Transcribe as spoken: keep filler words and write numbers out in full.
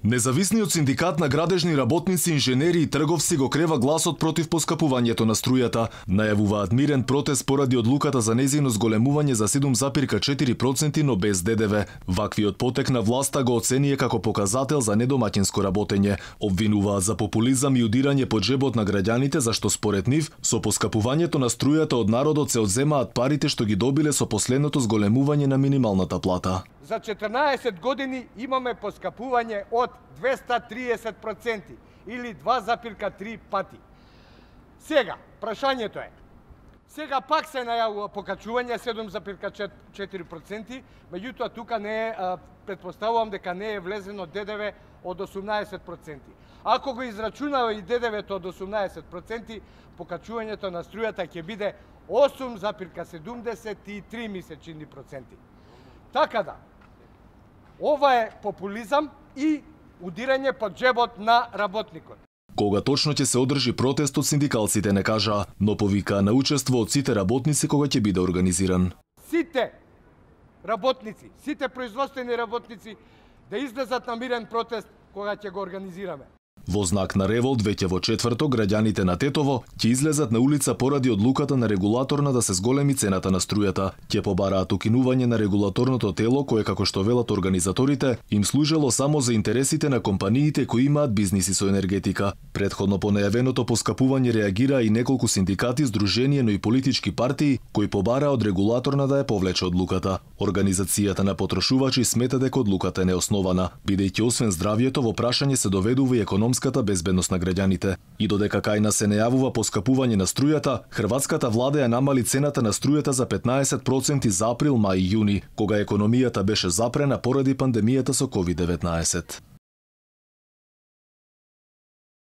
Независниот синдикат на градежни работници, инженери и трговци го крева гласот против поскапувањето на струјата. Најавуваат мирен протест поради одлуката за нејзино зголемување за седум зарез четири проценти, но без Д Д В. Ваквиот потек на власта го оценија како показател за недомаќинско работење. Обвинуваат за популизам и удирање по џебот на граѓаните, зашто според нив со поскапувањето на струјата од народот се одземаат парите што ги добиле со последното зголемување на минималната плата. За четрнаесет години имаме поскапување од двеста триесет проценти или два зарез три пати. Сега, прашањето е, сега пак се најавува покачување седум зарез четири проценти, меѓутоа тука не е, претпоставувам дека не е влезено Д Д В од осумнаесет проценти. Ако го израчунава и Д Д В-то од осумнаесет проценти, покачувањето на струјата ќе биде осум зарез седумдесет и три месечни проценти. Така да, ова е популизам и удирање по џебот на работникот. Кога точно ќе се одржи протестот, синдикалците не кажаа, но повикаа на учество од сите работници кога ќе биде организиран. Сите работници, сите производствени работници да излезат на мирен протест кога ќе го организираме. Во знак на револт, веќе во четврток, граѓаните на Тетово ќе излезат на улица поради одлуката на регулаторна да се зголеми цената на струјата. Ќе побараат укинување на регулаторното тело кое, како што велат организаторите, им служело само за интересите на компаниите кои имаат бизниси со енергетика. Претходно по најавеното поскапување реагира и неколку синдикати, здруженија, но и политички партии кои побараа од регулаторна да ја повлече одлуката. Организацијата на потрошувачи смета дека одлуката е неоснована, бидејќи освен здравјето во прашање се доведува и економската безбедност на граѓаните. И додека кај нас се најавува поскапување на струјата, хрватската влада ја намали цената на струјата за петнаесет проценти за април, мај и јуни, кога економијата беше запрена поради пандемијата со ковид деветнаесет.